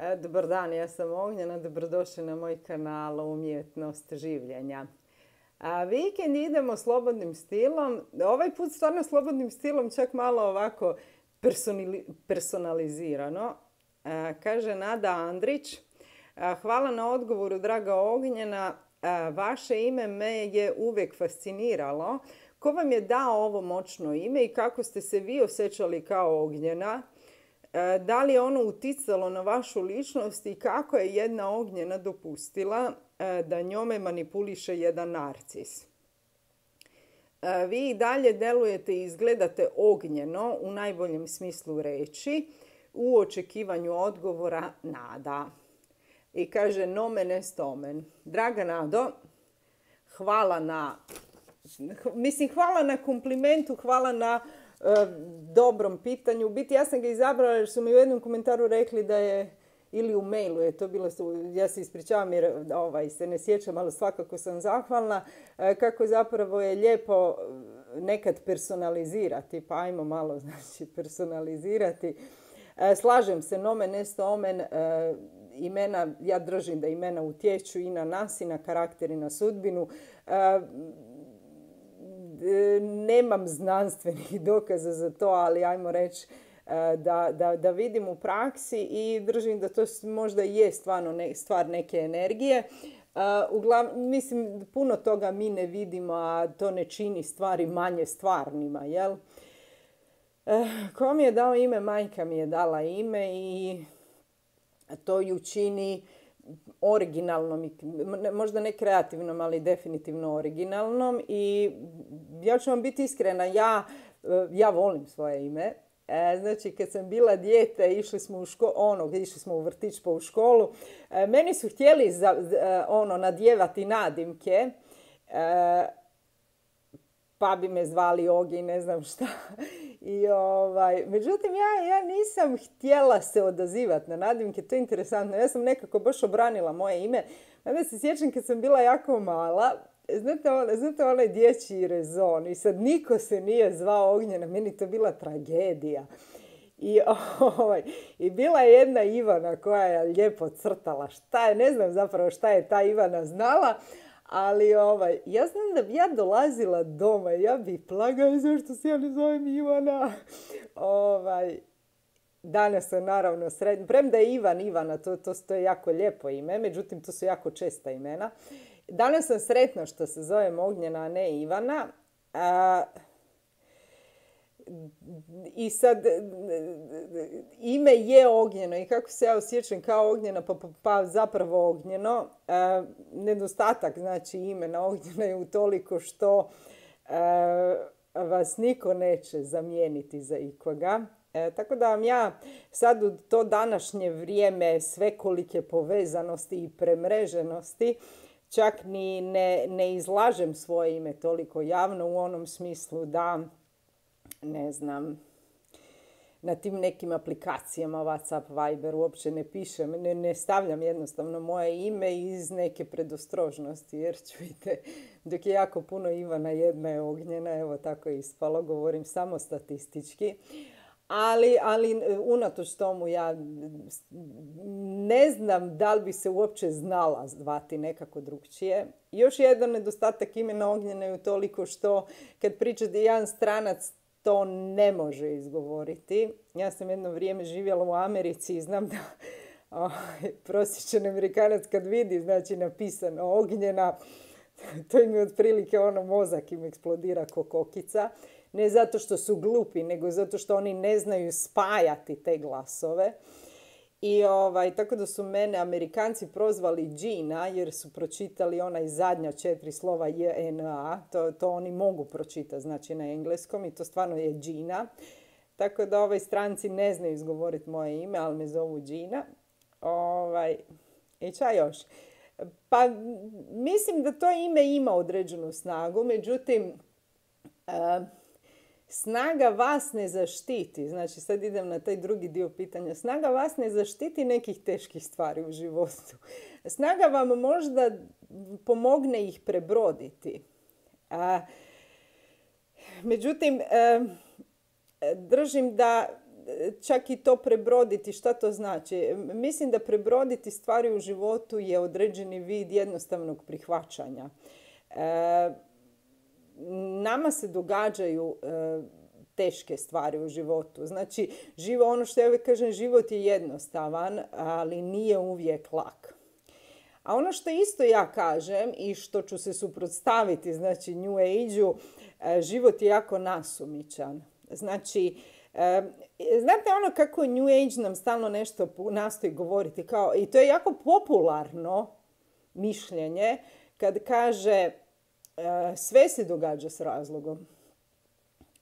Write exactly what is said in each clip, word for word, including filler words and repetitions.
E, Dobar dan, ja sam Ognjena, dobrodošli na moj kanal Umjetnost življenja. A vikend idemo slobodnim stilom, ovaj put stvarno slobodnim stilom, čak malo ovako personali- personalizirano. A, kaže Nada Andrić, a, hvala na odgovoru draga Ognjena, a, vaše ime me je uvijek fasciniralo. Ko vam je dao ovo moćno ime i kako ste se vi osjećali kao Ognjena? E, Da li je ono uticalo na vašu ličnost i kako je jedna Ognjena dopustila e, da njome manipuliše jedan narcis? E, Vi i dalje delujete i izgledate ognjeno u najboljem smislu reći u očekivanju odgovora Nada. I kaže nomen est omen. Draga Nado, hvala na, mislim hvala na komplimentu, hvala na e, dobrom pitanju. U biti ja sam ga izabrala jer su mi u jednom komentaru rekli da je, ili u mailu je to bilo, ja se ispričavam jer ovaj, se ne sjećam, ali svakako sam zahvalna, e, kako zapravo je lijepo nekad personalizirati, pa ajmo malo znači personalizirati. E, slažem se, nomen est omen, e, imena, ja držim da imena utječu i na nas i na karakter i na sudbinu. E, Nemam znanstvenih dokaza za to, ali ajmo reći da, da, da vidim u praksi i držim da to možda je stvarno ne, stvar neke energije. Uglav, mislim, puno toga mi ne vidimo, a to ne čini stvari manje stvarnima, jel? Ko mi je dao ime? Majka mi je dala ime i to ju čini originalnom, možda ne kreativnom, ali definitivno originalnom. I ja ću vam biti iskrena, ja, ja volim svoje ime. E, znači, kad sam bila dijete, išli smo u školu, ono, išli smo u vrtić pa u školu, e, meni su htjeli za, ono, nadjevati nadimke, e, pa bi me zvali Ogi, ne znam šta. I ovaj, međutim, ja, ja nisam htjela se odazivati na nadimke, to je interesantno. Ja sam nekako baš obranila moje ime. Onda se sjećam kad sam bila jako mala, znate, on, znate onaj dječji rezon i sad niko se nije zvao Ognjena, meni to bila tragedija. I, ovaj, I bila je jedna Ivana koja je lijepo crtala. Šta je, ne znam zapravo šta je ta Ivana znala, ali ovaj, ja znam da bi ja dolazila doma i ja bi plagala zašto se ja ne zovem Ivana. Ovaj, danas sam naravno srednja, premda je Ivan Ivana, to, to, to je jako lijepo ime, međutim to su jako česta imena. Danas sam sretna što se zovem Ognjena, a ne Ivana. A, I sad, ime je Ognjeno i kako se ja osjećam kao Ognjena, pa, pa, pa zapravo Ognjeno. E, nedostatak znači imena Ognjena je utoliko što e, vas niko neće zamijeniti za ikoga. E, tako da vam ja sad u to današnje vrijeme svekolike povezanosti i premreženosti čak ni ne, ne izlažem svoje ime toliko javno u onom smislu da, ne znam, na tim nekim aplikacijama WhatsApp, Viber uopće ne pišem, ne, ne stavljam jednostavno moje ime iz neke predostrožnosti, jer čujte, dok je jako puno Ivana, jedna je Ognjena, evo tako je ispalo, govorim samo statistički. Ali, ali unatoč tomu ja ne znam da li bi se uopće znala zvati nekako drugčije. Još jedan nedostatak imena Ognjena je toliko što kad pričate jedan stranac to ne može izgovoriti. Ja sam jedno vrijeme živjela u Americi i znam da oh, prosječan Amerikanac kad vidi znači napisano Ognjena, to im je otprilike ono mozak im eksplodira ko kokica. Ne zato što su glupi, nego zato što oni ne znaju spajati te glasove. I ovaj, tako da su mene Amerikanci prozvali Gina jer su pročitali onaj zadnja četiri slova J N A. To, to oni mogu pročitati znači na engleskom i to stvarno je Gina. Tako da ovaj stranci ne znaju izgovoriti moje ime, ali me zovu Gina. Ovaj, I ča još? Pa mislim da to ime ima određenu snagu, međutim uh, snaga vas ne zaštiti. Znači sad idem na taj drugi dio pitanja. Snaga vas ne zaštiti nekih teških stvari u životu. Snaga vam možda pomogne ih prebroditi. Uh, međutim, uh, držim da čak i to prebroditi. Šta to znači? Mislim da prebroditi stvari u životu je određeni vid jednostavnog prihvaćanja. E, nama se događaju e, teške stvari u životu. Znači, živo, ono što ja uvijek kažem, život je jednostavan, ali nije uvijek lak. A ono što isto ja kažem i što ću se suprotstaviti, znači New Age-u, život je jako nasumičan. Znači, znate ono kako New Age nam stalno nešto nastoji govoriti, kao, i to je jako popularno mišljenje kad kaže sve se događa s razlogom.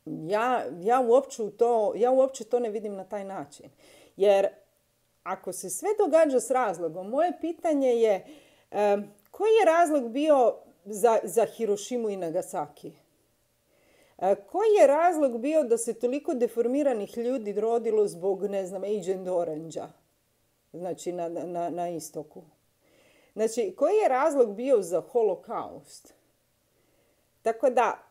Ja, ja, uopće to, ja uopće to ne vidim na taj način. Jer ako se sve događa s razlogom, moje pitanje je um, koji je razlog bio za, za Hirošimu i Nagasaki? Uh, koji je razlog bio da se toliko deformiranih ljudi rodilo zbog, ne znam, Agent Orange-a? Znači na, na, na istoku. Znači, koji je razlog bio za holokaust? Tako da,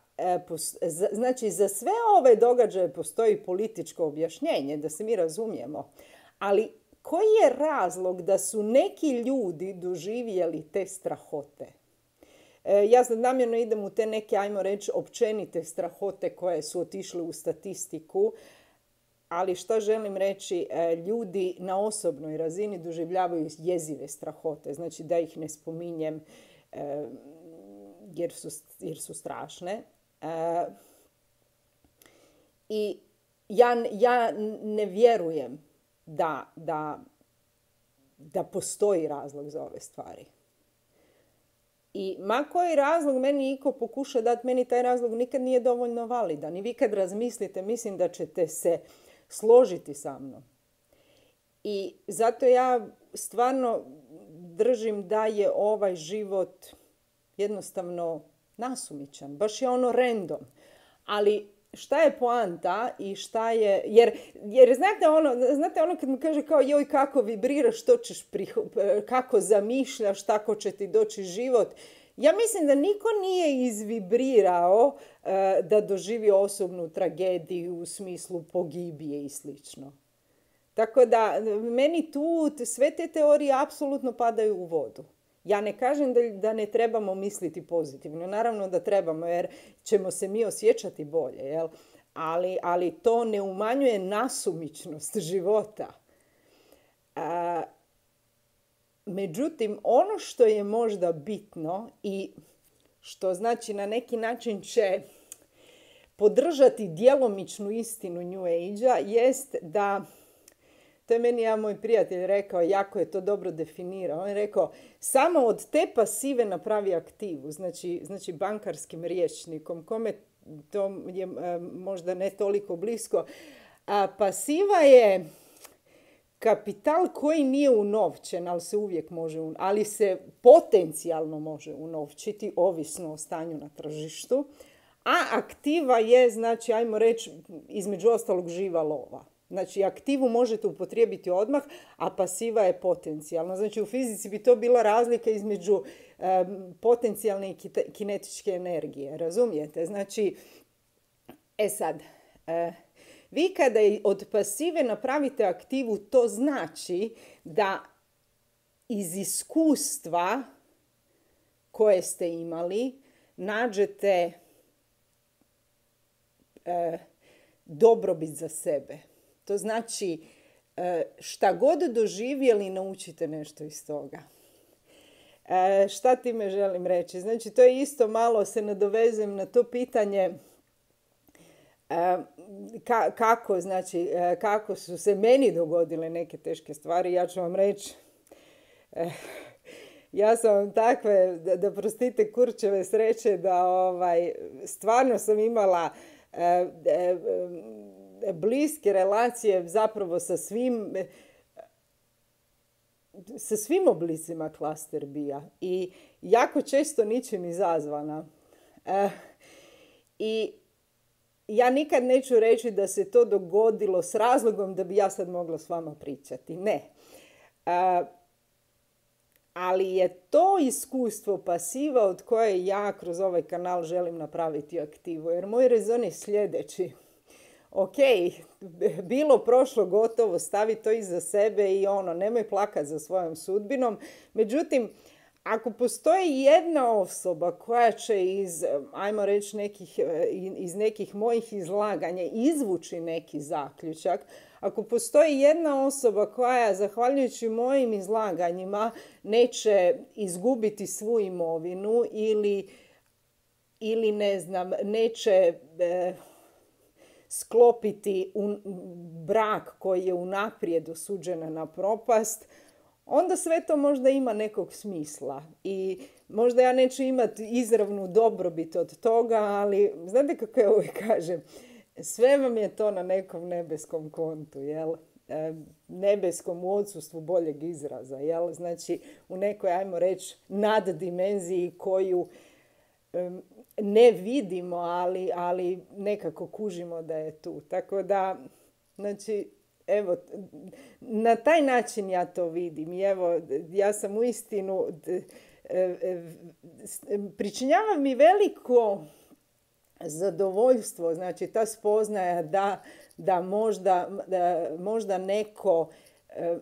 znači, za sve ove događaje postoji političko objašnjenje, da se mi razumijemo. Ali koji je razlog da su neki ljudi doživjeli te strahote? Ja sad namjerno idem u te neke, ajmo reći, općenite strahote koje su otišle u statistiku, ali što želim reći, ljudi na osobnoj razini doživljavaju jezive strahote. Znači, da ih ne spominjem jer su, jer su strašne. I ja, ja ne vjerujem da, da, da postoji razlog za ove stvari. I ma koji razlog meni iko pokuša dati, meni taj razlog nikad nije dovoljno validan. I vi kad razmislite, mislim da ćete se složiti sa mnom. I zato ja stvarno držim da je ovaj život jednostavno nasumičan. Baš je ono random. Ali šta je poanta i šta je... Jer, jer znate, ono, znate ono kad mi kaže kao joj kako vibriraš, što ćeš priho, kako zamišljaš, tako će ti doći život. Ja mislim da niko nije izvibrirao uh, da doživi osobnu tragediju u smislu pogibije i slično. Tako da meni tu sve te teorije apsolutno padaju u vodu. Ja ne kažem da, da ne trebamo misliti pozitivno. Naravno da trebamo jer ćemo se mi osjećati bolje. Jel? Ali, ali to ne umanjuje nasumičnost života. A, međutim, ono što je možda bitno i što znači na neki način će podržati djelomičnu istinu New Age-a jest da... To je meni jedan moj prijatelj rekao, jako je to dobro definirao. On je rekao, samo od te pasive napravi aktivu, znači, znači bankarskim rječnikom, kome to je možda ne toliko blisko. A pasiva je kapital koji nije unovčen, ali se uvijek može, ali se potencijalno može unovčiti, ovisno o stanju na tržištu. A aktiva je, znači, ajmo reći, između ostalog živa lova. Znači, aktivu možete upotrijebiti odmah, a pasiva je potencijalna. Znači, u fizici bi to bila razlika između um, potencijalne i kinetičke energije. Razumijete? Znači, e sad, uh, vi kada od pasive napravite aktivu, to znači da iz iskustva koje ste imali nađete uh, dobrobit za sebe. To znači, šta god doživjeli, naučite nešto iz toga. Šta time želim reći? Znači, to je isto malo, se nadovezujem na to pitanje kako, znači, kako su se meni dogodile neke teške stvari. Ja ću vam reći, ja sam vam takve, da, da prostite, kurčeve sreće, da ovaj, stvarno sam imala bliske relacije zapravo sa svim sa svim oblicima klaster bija i jako često ničim izazvana. E, I ja nikad neću reći da se to dogodilo s razlogom da bi ja sad mogla s vama pričati. Ne. E, ali je to iskustvo pasiva od koje ja kroz ovaj kanal želim napraviti aktivu. Jer moj rezon je sljedeći. ok, bilo prošlo gotovo, stavi to iza sebe i ono, nemoj plakat za svojom sudbinom. Međutim, ako postoji jedna osoba koja će iz, ajmo reći, nekih, iz nekih mojih izlaganja izvući neki zaključak, ako postoji jedna osoba koja, zahvaljujući mojim izlaganjima, neće izgubiti svu imovinu ili, ili ne znam, neće e, sklopiti un, brak koji je unaprijed osuđen na propast, onda sve to možda ima nekog smisla. I možda ja neću imati izravnu dobrobit od toga, ali znate kako ja uvijek kažem, sve vam je to na nekom nebeskom kontu, jel? E, nebeskom u odsustvu boljeg izraza, jel? Znači u nekoj, ajmo reći, naddimenziji koju e, ne vidimo, ali, ali nekako kužimo da je tu. Tako da, znači, evo, na taj način ja to vidim. I evo, ja sam uistinu, pričinjava mi veliko zadovoljstvo, znači ta spoznaja da, da, možda, da možda neko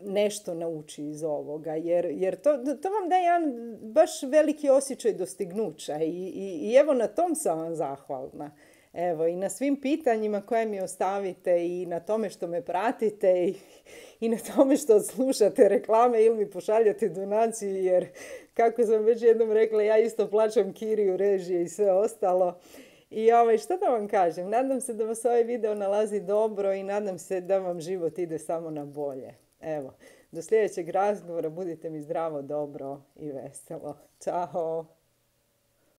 nešto nauči iz ovoga, jer, jer to, to vam daje jedan baš veliki osjećaj dostignuća i, i, i evo na tom sam vam zahvalna. Evo, i na svim pitanjima koje mi ostavite i na tome što me pratite i, i na tome što slušate reklame ili mi pošaljate donaciju, jer kako sam već jednom rekla, ja isto plaćam kiriju, režije i sve ostalo. I ovaj, što da vam kažem, nadam se da vas ovaj video nalazi dobro i nadam se da vam život ide samo na bolje. Evo, do sljedećeg razgovora, budite mi zdravo, dobro i veselo. Ćao!